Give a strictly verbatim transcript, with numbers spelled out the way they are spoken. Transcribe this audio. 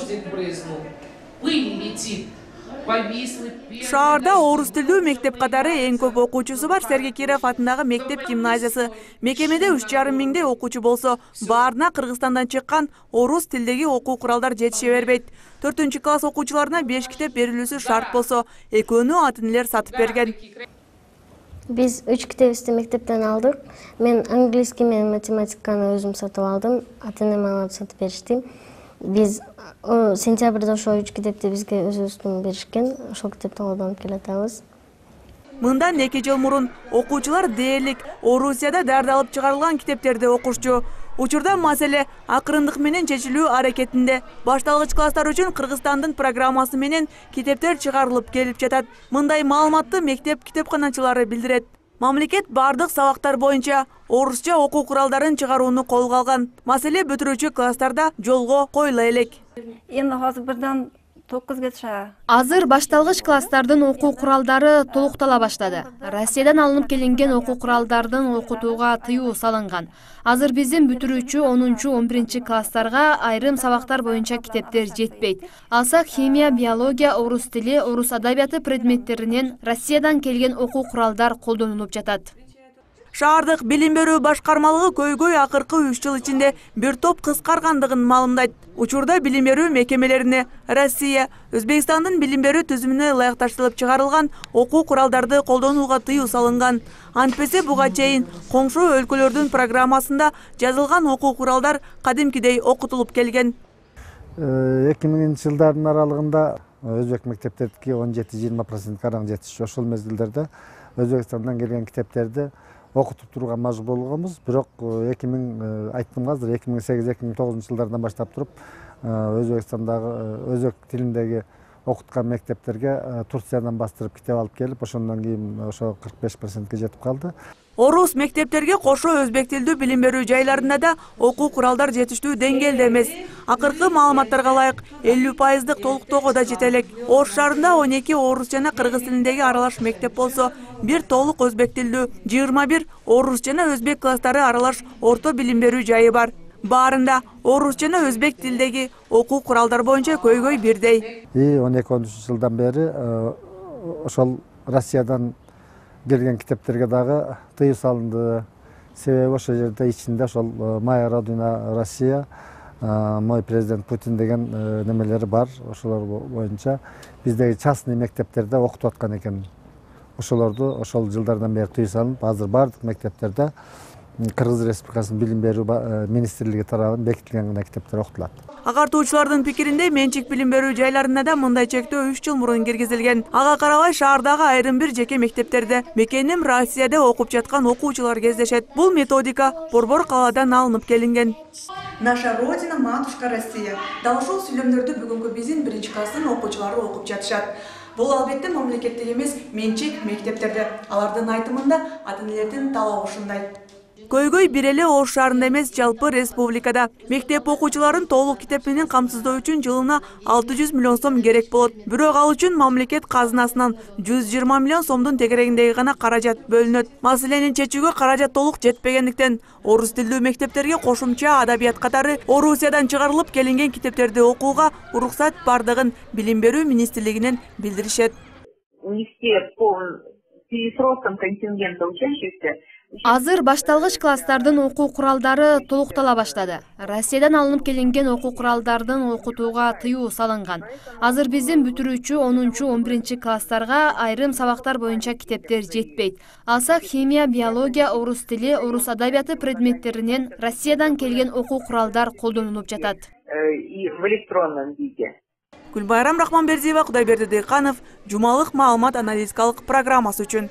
гвоздик брызнул, пыль летит. Шаарда орус тилдүү мектеп катары эң көп окуучусу бар Сергей Киров атындагы мектеп гимназиясы. Мекемеде үч жарым миңдей окуучу болсо, баарына Кыргызстандан чыккан орус тилдеги окуу куралдар жетише бербейт. төртүнчү класс окуучуларына беш китеп берилүүсү шарт болсо, экөөнү ата-энелер сатып берген. Биз үч китепти мектептен алдык. Мен английский менен математиканы өзүм сатып алдым. Ата-энем алып сатып беришти. Биз сентябрда ошо үч китепти бизге өзүбүздүн беришкен. Ошол китепти колдонуп келатабыз. Мындан эки жыл мурун окуучулар дээрлик Орусияда даярдалып чыгарылган китептерди окушчу. Учурда маселе акырындык менен чечилүү аракетинде. Башталгыч класстар үчүн Кыргызстандын программасы менен китептер чыгарылып келип жатат. Мындай маалыматты мектеп китепканачылары билдирет. Мамлекет бардык сабактар боюнча орусча окуу куралдарын чыгарууну колго алган. Маселе бүтүрүүчү класстарда жолго коюла элек. Эми азыр бирден токузга чейин. Азыр башталгыч класстардын окуу куралдары толуктала баштады. Россиядан алынып келинген окуу куралдардын окутууга тыюу салынган. Азыр биздин бүтүрүүчү онунчу он биринчи класстарга айрым сабактар боюнча китептер жетпейт. Алсак химия, биология, орус тили, орус адабияты предметтеринен Россиядан келген окуу куралдар колдонулуп жатат. Шаардык билим берүү башкармалыгы көйгөй акыркы үч жыл ичинде бир топ кыскаргандыгын маалымдайт. Учурда билим берүү мекемелерине Россия, Өзбекстандын билим берүү түзүмүнө ылайыкташтырылып чыгарылган окуу куралдарды колдонууга тыюу салынган. Антпесе буга чейин коңшу өлкөлөрдүн программасында жазылган окуу куралдар кадимкидей окутулуп келген. эки миңинчи жылдардын аралыгында өзбек мектептердики он жети жыйырма процент караң жетишчү. Ошол мезгилдерде Өзбекстандан келген китептерди окутуп турууга мажбур болгонбуз. Бирок эки миң айттым азыр эки миң сегиз эки миң тогузунчу жылдардан баштап туруп Өзбекстандагы өзбек тилиндеги окуткан мектептерге Турциядан бастырып китеп алып келип, ошондон кийин ошо кырк беш процентке жетип калды. Орус мектептерге кошо өзбек тилдүү билим берүү жайларында да окуу куралдар жетиштүү деңгээлде эмес. Акыркы маалыматтарга ылайык элүү пайыздык толуктоого да жете элек. Ош шаарында он эки орус жана кыргыз тилиндеги аралаш мектеп болсо, бир толук өзбек тилдүү, жыйырма бир орус жана өзбек класстары аралаш орто билим берүү жайы бар. Баарында орус жана өзбек тилдеги окуу куралдар боюнча көйгөй бирдей. И он эки он үч жылдан бери ошол Россиядан келген китептерге дагы тыюу салынды. Себеби ошол жерде ичинде ошол «Моя родина Россия», «Мой президент Путин» деген немелери бар. Ошолор боюнча биздеги частный мектептерде окутуп аткан экен. Ошолорду ошол жылдардан бери тыюу салынып, азыр бардык мектептерде Кыргыз Республикасынын билим берүү министрлиги тарабынан бекитилген мектептер окутулат. Агартуучулардын пикиринде менчик билим берүү жайларында да мындай чектөө үч жыл мурун киргизилген. Ага карабай шаардагы айрым бир жеке мектептерде мекеним Россияда окуп жаткан окуучулар кездешет. Бул методика Борбор калаадан алынып келинген. Наша родина, матушка Россия. Дал ушул сүйлөмдөрдү бүгүнкү биздин биринчи класстын окуучулары окуп жатышат. Бул албетте мамлекеттик эмес, менчик мектептерде. Алардын айтымында ата-энелердин талабы ушундай. Көйгөй бир эле Ош шаарында эмес, жалпы республикада. Мектеп окуучуларын толук китеп менен камсыздоо үчүн жылына алты жүз миллион сом керек болот. Бирок ал үчүн мамлекет казынасынан жүз жыйырма миллион сомдун тегерегиндеги гана каражат бөлүнөт. Маселени чечүүгө каражат толук жетпегендиктен, орус тилдүү мектептерге кошумча адабият катары Орусиядан чыгарылып келинген китептерди окууга уруксат бардыгын билим берүү министрлигинен билдиришет. Азыр башталгыч класстардын окуу куралдары толуктала баштады. Россиядан алынып келинген окуу куралдардын окутууга тыюу салынган. Азыр биздин бүтүрүүчү онунчу он биринчи класстарга айрым сабактар боюнча китептер жетпейт. Алсак химия, биология, орус тили, орус адабияты предметтеринен Россиядан келген окуу куралдар колдонулуп жатат. В электронном виде. Гүлбайрам Рахманбердиева, Кудайберди Дыйканов, жумалык маалымат аналитикалык программасы үчүн.